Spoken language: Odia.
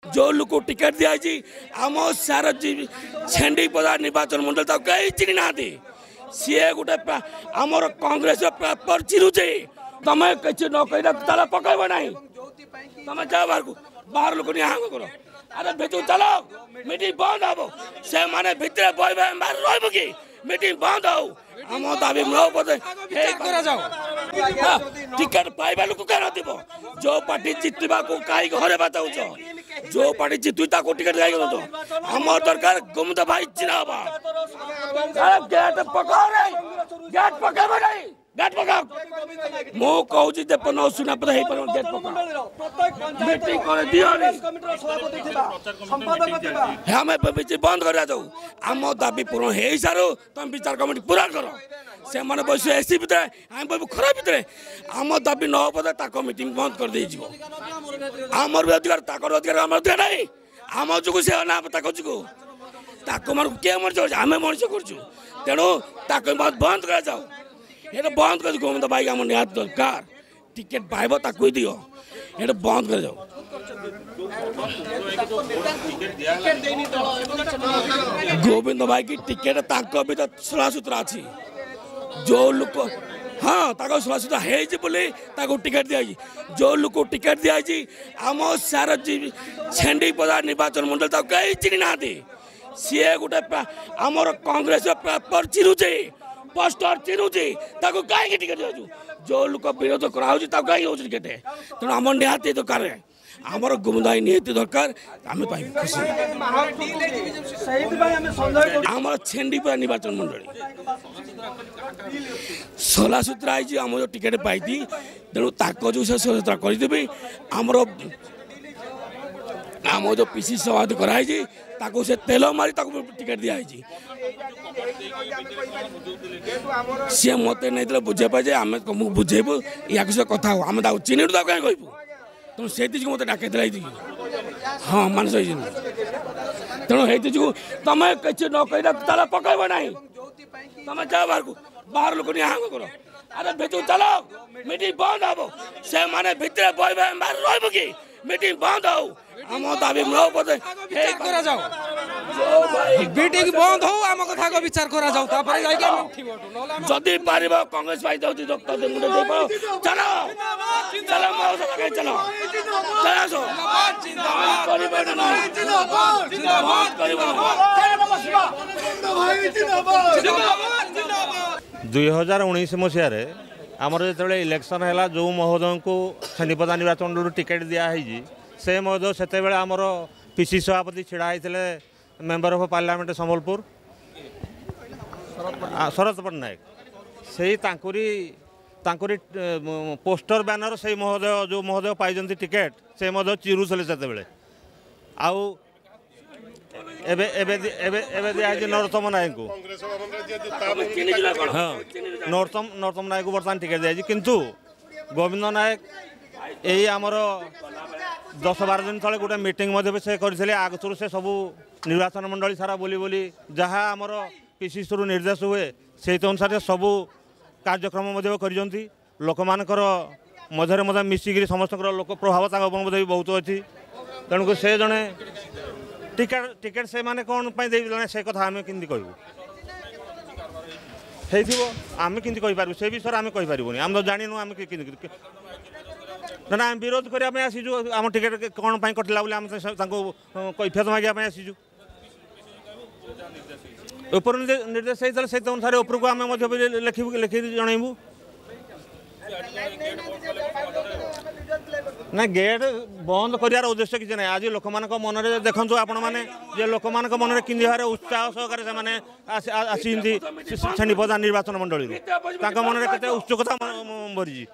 ଯେଉଁ ଲୋକ ଟିକେଟ୍ ଦିଆହେଇଛି ଆମ ସାର ଛେଣ୍ଡିପଦା ନିର୍ବାଚନ ମଣ୍ଡଳୀ ତାକୁ କେହି ଚିହ୍ନି ନାହାନ୍ତି। ସିଏ ଗୋଟେ ଆମର କଂଗ୍ରେସର ପେପର ଚିରୁଛି। ତମେ କିଛି ନ କହିଲେ ତାଲା ପକାଇବ ନାହିଁ, ତମେ ଯାଅ ବାହାରକୁ, ବାହାର ଲୋକ ନିହାଙ୍ଗ କର। ଆରେ ଭିତରକୁ ଚାଲ, ମିଟିଂ ବନ୍ଦ ହବ। ସେମାନେ ଭିତରେ ବହିବେ, ବାହାରେ ରହିବ କି? ମିଟିଂ ବନ୍ଦ ହଉ, ଆମ ଦାବି କରାଯାଉ। ଟିକେଟ ପାଇବା ଲୋକ କାହିଁ ନଥିବ? ଯୋଉ ପାର୍ଟି ଜିତିବାକୁ କାହିଁକି ହରେଇବା ଚାହୁଁଛ? ଯୋଉ ପାର୍ଟି ଜିତୁ ତାକୁ ଟିକେଟ କାହିଁକି ଦଉଛ? ଆମର ଦରକାର ଗୋବିନ୍ଦ ଭାଇ ଜିନ୍ଦାବାଦ। ଗେଟ୍ ପକାଅ, ଗେଟ୍ ପକାଇବ ନାହିଁ, ଗେଟ୍ ପକାଅ। ମୁଁ କହୁଛି ଯେ ନ ଶୁଣା ପରେ ହେଇପାରିବ। ଗେଟ୍ ପକାଅ, ମିଟିଂ କରି ଦିଅନି। ଆମେ ବନ୍ଦ କରିବା ଯାଉ, ଆମ ଦାବି ପୂରଣ ହେଇସାରୁ ତମେ ବିଚାର କମିଟି ପୁରା କର। ସେମାନେ ବସିବେ ଏସି ଭିତରେ, ଆମେ ବସିବୁ ଖରା ଭିତରେ। ଆମ ଦାବି ନ ହବ ତାଙ୍କ ମିଟିଂ ବନ୍ଦ କରିଦେଇଯିବ। ଆମର ବି ଅଧିକାର, ତାଙ୍କର ଅଧିକାର, ଆମର ଅଧିକାର ନାହିଁ। ଆମ ଯୋଗୁଁ ସେ ନା ତାଙ୍କ ଯୋଗୁଁ? ତାକୁ ମାନଙ୍କୁ କିଏ ମଣିଷ କରୁଛି? ଆମେ ମଣିଷ କରୁଛୁ। ତେଣୁ ତାକୁ ବନ୍ଦ କରାଯାଉ, ଏଇଟା ବନ୍ଦ କରି। ଗୋବିନ୍ଦ ଭାଇ ଆମ ନିହାତି ଦରକାର, ଟିକେଟ ପାଇବ ତାକୁ ହିଁ ଦିଅ, ଏଇଟା ବନ୍ଦ କରାଯାଉ। ଗୋବିନ୍ଦ ଭାଇକି ଟିକେଟ ତାଙ୍କ ଭିତରେ ସଳାସୁତୁରା ଅଛି। ଯେଉଁ ଲୋକ, ହଁ, ତାଙ୍କ ସଳାସୁତୁରା ହେଇଛି ବୋଲି ତାକୁ ଟିକେଟ ଦିଆଯାଇଛି। ଯେଉଁ ଲୋକ ଟିକେଟ ଦିଆଯାଇଛି ଆମ ସାର ଛେଣ୍ଡିପଦା ନିର୍ବାଚନ ମଣ୍ଡଳୀ ତାକୁ କେହି ଚିହ୍ନି ନାହାନ୍ତି। ସିଏ ଗୋଟେ ଆମର କଂଗ୍ରେସର ପେପର ଚିରୁଛି, ପୋଷ୍ଟର ଚିରୁଛି, ତାକୁ କାହିଁକି ଟିକେଟ ଦିଆଯାଉଛି? ଯେଉଁ ଲୋକ ବିରୋଧ କରାହେଉଛି ତାକୁ କାହିଁକି ଦେଉଛି ଟିକେଟ? ତେଣୁ ଆମର ନିହାତି ଦରକାର, ଆମର ଗୋବିନ୍ଦ ଭାଇ ନିହାତି ଦରକାର, ଆମେ ପାଇବୁ ଖୁସି। ଆମର ଛେଣ୍ଡିପଦା ନିର୍ବାଚନ ମଣ୍ଡଳୀ ସଲାସୁତୁରା ହେଇଛି, ଆମ ଯେଉଁ ଟିକେଟ ପାଇଛି, ତେଣୁ ତାଙ୍କ ଯେଉଁ ସେ ସଲାସୁତୁରା କରିଦେବି। ଆମର ଆମ ଯେଉଁ ପିସି ସଭାପତି କରାହେଇଛି ତାକୁ ସେ ତେଲ ମାରି ତାକୁ ଟିକେଟ ଦିଆହେଇଛି। ସିଏ ମୋତେ ନେଇଥିଲେ ବୁଝେଇବା ପାଇଁ ଯେ ଆମେ ତୁମକୁ ବୁଝେଇବୁ, ୟାକୁ ସହ କଥା ହବୁ। ଆମେ ତାକୁ ଚିହ୍ନିନୁ, ତାକୁ କାହିଁ କହିବୁ? ତେଣୁ ସେଇଥି ଯୋଗୁଁ ମୋତେ ଡାକେଇଥିଲା ଏଇଥିକି। ହଁ, ମାନସ ହେଇଛନ୍ତି। ତେଣୁ ହେଇଥି ଯୋଗୁଁ ତମେ କିଛି ନ କହିଲେ ତାଲା ପକାଇବ ନାହିଁ, ତମେ ଯାଅ ବାହାରକୁ, ବାହାର ଲୋକ ନିହାଙ୍ଗ କର। ଆରେ ଭିତରକୁ ଚାଲ, ମିଟିଂ ବନ୍ଦ ହବ। ସେମାନେ ଭିତରେ ବହିବେ, ବାହାରେ ରହିବ କି? ମିଟିଂ ବନ୍ଦ ହଉ, ଆମ ଦାବି କରାଯାଉ। ମିଟିଂ ବନ୍ଦ ହଉ, ଆମ କଥା ବିଚାର କରାଯାଉ, ତାପରେ ଯାଇକି ଆମେ ଉଠିବୁ। ଯଦି ପାରିବ କଂଗ୍ରେସ ପାଇ ଯାଉଛି, ଚାଲ ଚାଲ, ଚାଲ ଚାଲ, ଆସ। କରିବ। 2019 ମସିହାରେ ଆମର ଯେତେବେଳେ ଇଲେକ୍ସନ୍ ହେଲା, ଯେଉଁ ମହୋଦୟଙ୍କୁ ଛେଣ୍ଡିପଦା ନିର୍ବାଚନରୁ ଟିକେଟ୍ ଦିଆହେଇଛି, ସେ ମହୋଦୟ ସେତେବେଳେ ଆମର ପି ସି ସଭାପତି ଛିଡ଼ା ହେଇଥିଲେ, ମେମ୍ବର ଅଫ୍ ପାର୍ଲାମେଣ୍ଟ ସମ୍ବଲପୁର ଶରତ ପଟ୍ଟନାୟକ। ସେଇ ତାଙ୍କରି ପୋଷ୍ଟର ବ୍ୟାନର ସେଇ ମହୋଦୟ, ଯେଉଁ ମହୋଦୟ ପାଇଛନ୍ତି ଟିକେଟ୍, ସେ ମହୋଦୟ ଚିରୁଥିଲେ ସେତେବେଳେ। ଆଉ ଏବେ ଏବେ ଏବେ ଏବେ ଦିଆହେଇଛି ନରୋତ୍ତମ ନାୟକଙ୍କୁ। ହଁ, ନରୋତ୍ତମ ନାୟକକୁ ବର୍ତ୍ତମାନ ଟିକେଟ୍ ଦିଆଯାଇଛି। କିନ୍ତୁ ଗୋବିନ୍ଦ ନାୟକ ଏଇ ଆମର 10 12 ଦିନ ତଳେ ଗୋଟେ ମିଟିଂ ମଧ୍ୟ ସେ କରିଥିଲେ। ଆଗରୁ ସେ ସବୁ ନିର୍ବାଚନ ମଣ୍ଡଳୀ ସାରା ବୁଲି ବୁଲି ଯାହା ଆମର ପିସିସିରୁ ନିର୍ଦ୍ଦେଶ ହୁଏ ସେଇ ଅନୁସାରେ ସବୁ କାର୍ଯ୍ୟକ୍ରମ ମଧ୍ୟ କରିଛନ୍ତି। ଲୋକମାନଙ୍କର ମଧ୍ୟରେ ମଧ୍ୟ ମିଶିକିରି ସମସ୍ତଙ୍କର ଲୋକ ପ୍ରଭାବ ତାଙ୍କ ଉପରେ ମଧ୍ୟ ବି ବହୁତ ଅଛି। ତେଣୁକରି ସେ ଜଣେ ଟିକେଟ୍ ସେମାନେ କ'ଣ ପାଇଁ ଦେଇଦେଲେ ସେ କଥା ଆମେ କେମିତି କହିବୁ? ହେଇଥିବ, ଆମେ କେମିତି କହିପାରିବୁ ସେ ବିଷୟରେ? ଆମେ କହିପାରିବୁନି, ଆମେ ତ ଜାଣିନୁ। ଆମେ କେମିତି ନା ଆମେ ବିରୋଧ କରିବା ପାଇଁ ଆସିଛୁ। ଆମ ଟିକେଟ୍ କ'ଣ ପାଇଁ କଟିଲା ବୋଲି ଆମେ ତାଙ୍କୁ କୈଫିୟତ ମାଗିବା ପାଇଁ ଆସିଛୁ। ଉପରୁ ନିର୍ଦ୍ଦେଶ ହେଇଥିଲେ ସେଇ ଅନୁସାରେ ଉପରକୁ ଆମେ ମଧ୍ୟ ଲେଖିବୁ, ଲେଖିକି ଜଣାଇବୁ। ନା, ଗେଟ୍ ବନ୍ଦ କରିବାର ଉଦ୍ଦେଶ୍ୟ କିଛି ନାହିଁ। ଆଜି ଲୋକମାନଙ୍କ ମନରେ ଦେଖନ୍ତୁ ଆପଣମାନେ ଯେ ଲୋକମାନଙ୍କ ମନରେ କେମିତି ଭାବରେ ଉତ୍ସାହ ସହକାରେ ସେମାନେ ଆସିଛନ୍ତି ଛେଣ୍ଡିପଦା ନିର୍ବାଚନ ମଣ୍ଡଳୀରୁ, ତାଙ୍କ ମନରେ କେତେ ଉତ୍ସୁକତା ଭରିଛି।